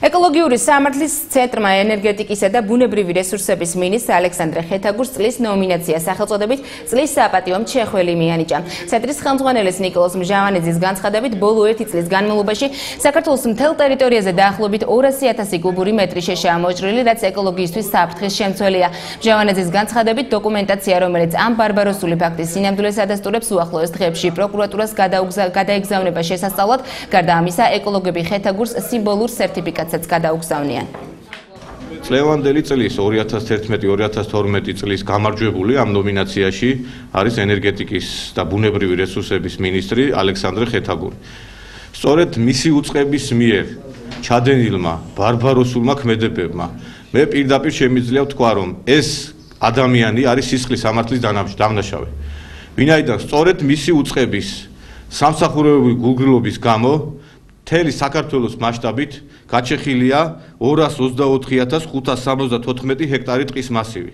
ეკოლოგიური სამართლის ცენტრმა ენერგეტიკისა და ბუნებრივი რესურსების მინისტრ ალექსანდრე ხეთაგურს წლის ნომინაცია სახელწოდებით წლის საპატიო მჩეხველი მიანიჭა. ცენტრის ხელმძღვანელის ნიკოლოზ მჟავანიძის განცხადებით, ბოლო 1 წლის განმავლობაში საქართველოს მთელ ტერიტორიაზე დაახლოებით 200,000 კუბური მეტრი შეშაა მოჭრილი, რაც ეკოლოგიისთვის საფრთხის შემცველია. მჟავანიძის განცხადებით, დოკუმენტაცია, რომელიც ამ ბარბაროსული ფაქტის სინამდვილეს ადასტურებს, უახლოეს დღეებში პროკურატურას გადაეგზავნება შესასწავლად. გარდა ამისა, ეკოლოგები ხეთაგურს სიმბოლურ სერტიფიკატსაც გადაუგზავნიან. წლევანდელი წლის 2011-2012 წლის გამარჯვებული ამ ნომინაციაში არის ენერგეტიკის და ბუნებრივი რესურსების მინისტრი ალექსანდრე ხეთაგური. სწორედ მისი უწყების მიერ ჩადენილმა ბარბაროსულმა ქმედებებმა მე პირდაპირ შემიძლია ვთქვა, რომ ეს ადამიანი არის სისხლის სამართლის დამნაშავე. ვინაიდან სწორედ მისი უწყების სამსახურებრივი გულგრილობის გამო მთელი საქართველოს მასშტაბით გაჩეხილია 224,574 ჰექტარი ტყის მასივი.